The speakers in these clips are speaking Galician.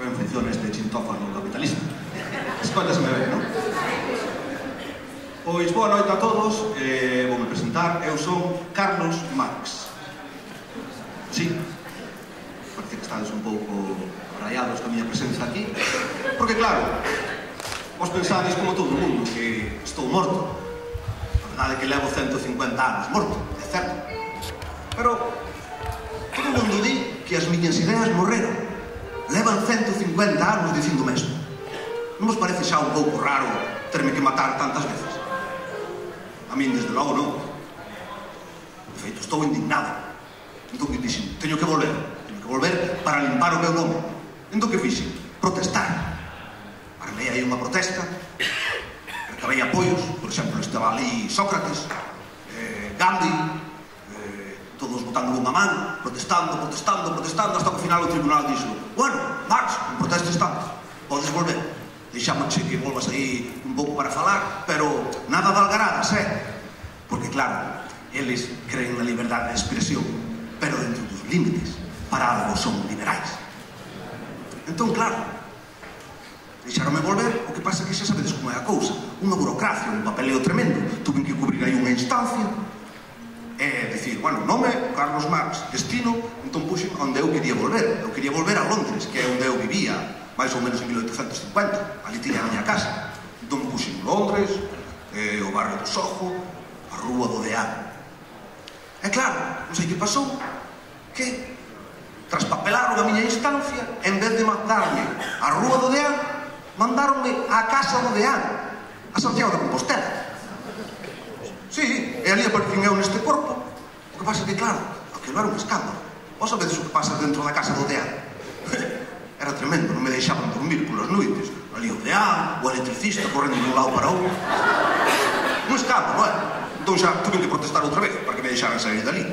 ben funciona este chintófano capitalista. Escóitaseme ben, non? Pois, boa noite a todos. Voume presentar. Eu son Carlos Marx. Sí, parece que estades un pouco rayados ca miña presenza aquí, porque claro, vos pensades como todo o mundo que estou morto. A verdade é que levo 150 anos morto, é certo, pero todo o mundo di que as miñas ideas morreron. Levan 150 anos dicindo o mesmo. Non vos parece xa un pouco raro terme que matar tantas veces? A min, desde logo, non. De feito, estou indignado. Entón que dixen, teño que volver para limpar o meu nome. Entón que fixen? Protestar. Armei aí unha protesta, recabei apoios, por exemplo, estaba ali Sócrates, Gandhi, todos botando unha man, protestando, hasta que ao final o tribunal dixo: bueno, Marx, non protestes tanto, podes volver. Deixámoche que volvas aí un pouco para falar, pero nada de algaradas, Porque, claro, eles creen na liberdade de expresión, pero dentro dos límites. Para algo son liberais. Entón, claro, deixaronme volver, o que pasa é que xa sabedes como é a cousa. Unha burocracia, un papeleo tremendo. Tuve que cubrir aí unha instancia e dicir, bueno, nome, Carlos Marx, destino, entón puxen onde eu quería volver. Eu quería volver a Londres, que é onde eu vivía máis ou menos en 1850, ali tiña a miña casa. Entón puxen Londres, o barrio do Soho, a rúa do Deán. E claro, non sei que pasou, que traspapelaron a miña instancia, en vez de mandarme a rúa do Deán, mandaronme a casa do Deán, a Santiago de Compostela. Sí, e ali aparecín eu neste corpo. O que pasa é que, claro, aquilo era un escándalo. Vos sabedes o que pasa dentro da casa do Deán? Era tremendo, non me deixaban dormir polas noites. Ali o Deán, o electricista correndo de un lado para outro. Un escándalo, Entón xa tuve que protestar outra vez para que me deixaran sair dali.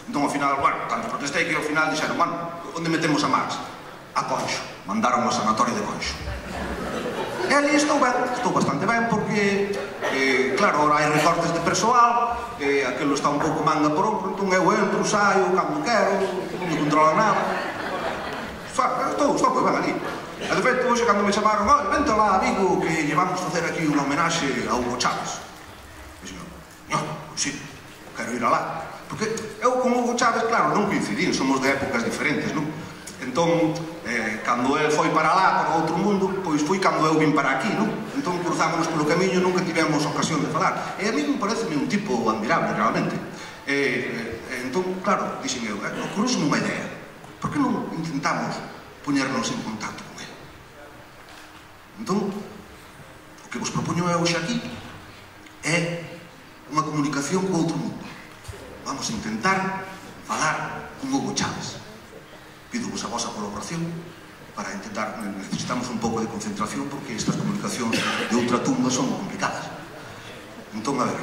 Entón, ao final, bueno, tanto protestei que ao final dixeron, bueno, onde metemos a Marx? A Conxo. Mandaron ao sanatorio de Conxo. E ali estou ben, estou bastante ben, porque, claro, ahora hai recortes de persoal, aquilo está un pouco manga por ombro, entón eu entro, saio, cando quero, non me controla nada. Estou ben ali. E, de feito, hoxe, cando me chamaron, vente lá, amigo, que llevamos a facer aquí unha homenaxe a Hugo Chávez. Dixen, sí, quero ir alá. Porque eu con Hugo Chávez, claro, non coincidín, somos de épocas diferentes, non? Entón, cando el foi para lá, para outro mundo, pois foi cando eu vim para aquí, non? Entón, cruzámonos polo camiño, nunca tivemos ocasión de falar. E a mí me pareceme un tipo admirable, realmente. Entón, claro, dixen eu, ocurriu-me unha idea. Por que non intentamos poñernos en contacto con ele? Entón, o que vos propoño eu hoxe aquí é unha comunicación co outro mundo. Vamos a intentar falar con Hugo Chávez. Pido-vos a vosa colaboración para intentar, necesitamos un pouco de concentración porque estas comunicacións de ultratumba son complicadas. Entón, a ver,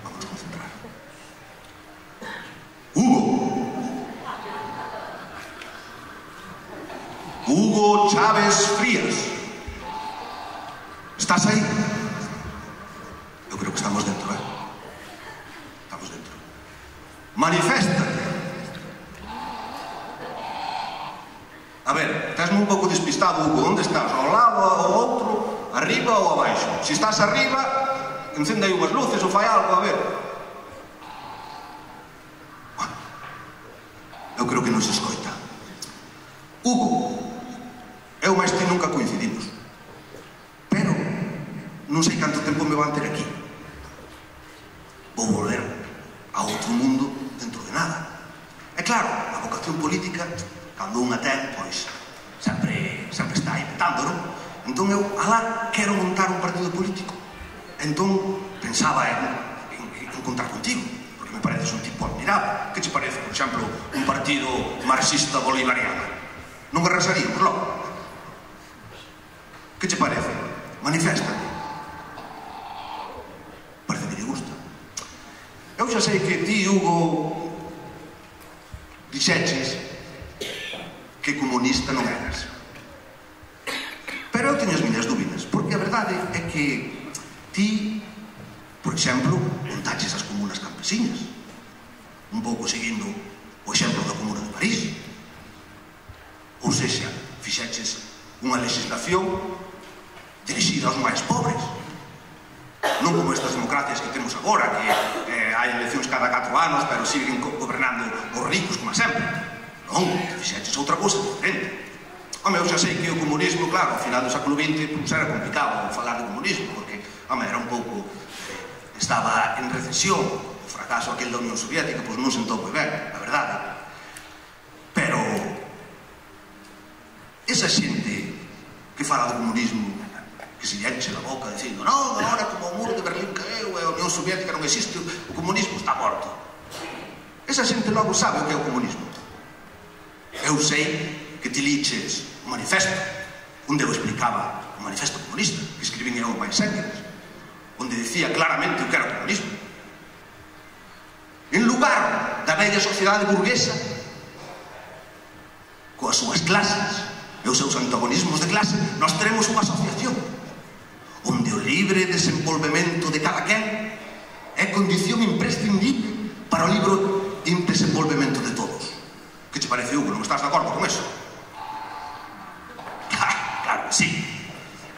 vamos a concentrar. Hugo Chávez Frías, ¿estás ahí? Yo creo que estamos dentro, Estamos dentro. Maniféstate. A ver, estás un pouco despistado, Hugo. Onde estás? Ao lado, ao outro? Arriba ou abaixo? Se estás arriba, encende aí unhas luces ou fai algo, a ver. Bueno, eu creo que non se escoita. Hugo, eu máis ti nunca coincidimos, pero non sei canto tempo me van ter aquí. Vou volver a outro mundo dentro de nada. E claro, a vocación política, cando unha ten, pois sempre está aí petando, non? Entón eu, alá, quero montar un partido político. Entón pensaba en contar contigo, porque me pareces un tipo admirable. Que che parece, por exemplo, un partido marxista bolivariano? Non arrasaríamos logo? Que che parece? Maniféstate. Parece que lle gusta. Eu xa sei que ti, Hugo, dixeches que comunista non eras. Pero eu teño as miñas dúbidas, porque a verdade é que ti, por exemplo, montaches as comunas campesiñas, un pouco seguindo o exemplo da Comuna de París. Ou sexa, unha legislación dirixida aos máis pobres. Non como estas democracias que temos agora, que hai eleccións cada 4 anos, pero siguen gobernando os ricos como sempre. Non, fixeches outra cousa diferente. Home, eu xa sei que o comunismo, claro, ao final do século XX era complicado falar de comunismo, porque, home, era un pouco... estaba en recesión, o fracaso aquel da Unión Soviética, pois non sentou moi ben, a verdade. Pero esa xente que fala do comunismo, que se enche a boca dicindo non, agora como o muro de Berlín caeu e a Unión Soviética non existe, o comunismo está morto. Esa xente logo sabe o que é o comunismo. Eu sei que ti liches o manifesto, onde eu explicaba o manifesto comunista, que escribín eu máis Engels, onde dicía claramente o que era o comunismo. En lugar da bella sociedade burguesa, coas súas clases e os seus antagonismos de clase, nós teremos unha asociación onde o libre desenvolvemento de cada quen é condición imprescindible para o libre desenvolvemento de todos. Que te parece, Hugo? Non estás de acordo con eso? Claro que sí.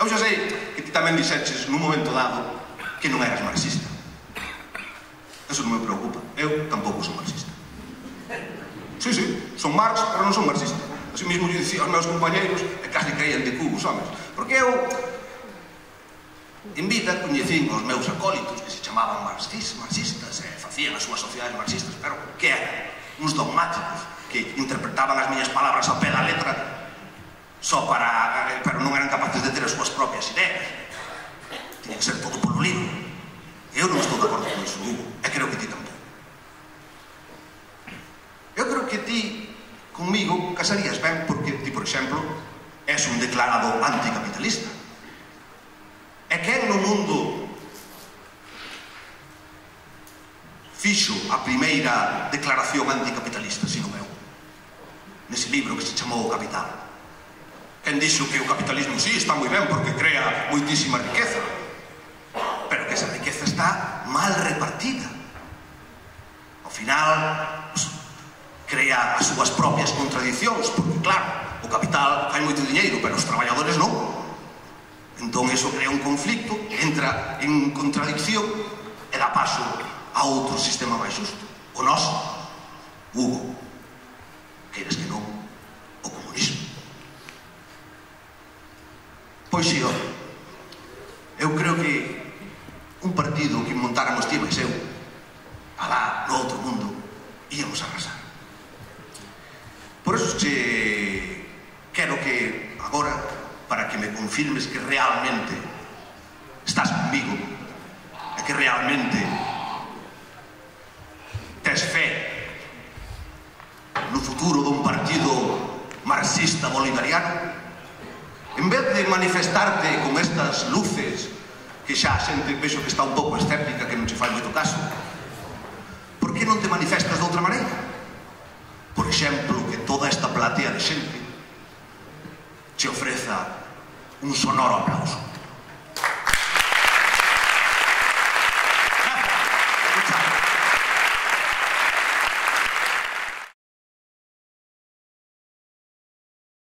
Eu xa sei que ti tamén dixeches nun momento dado que non eras marxista. Eso non me preocupa. Eu tampouco son marxista. Sí, son Marx, pero non son marxista. Así mesmo yo dicía aos meus compañeiros e casi caían de cubos, homes. Porque eu, en vida, coñecín os meus acólitos que se chamaban marxistas e facían as súas sociedades marxistas, pero que eran? Uns dogmáticos que interpretaban as miñas palabras ao pé da letra só para... pero non eran capaces de ter as súas propias ideas. Tiña que ser todo polo libro. Eu non estou de acordo con iso, Hugo, e creo que ti tampouco. Eu creo que ti conmigo casarías ben porque ti, por exemplo, és un declarado anticapitalista. E quen no mundo fixo a primeira declaración anticapitalista, sino eu? Nese libro que se chamou O Capital. Quen dixo que o capitalismo sí está moi ben porque crea moitísima riqueza, pero que esa riqueza está mal repartida. Ao final, crea as súas propias contradicións, porque claro, o capital fai moito diñeiro, pero os traballadores non. Entón, iso crea un conflicto, entra en contradicción e dá paso a outro sistema máis justo. O noso, Hugo, queres que non, o comunismo. Pois si, eu creo que un partido que montáramos ti máis eu, alá no outro mundo, íamos arrasar. Por eso quero que agora, para que me confirmes que realmente estás comigo e que realmente tes fe no futuro dun partido marxista bolivariano, en vez de manifestarte con estas luces que xa a xente vexo que está un pouco escéptica, que non se fai moito caso, por que non te manifestas de outra maneira? Por exemplo, que toda esta platea de xente te ofreza un sonoro aplauso.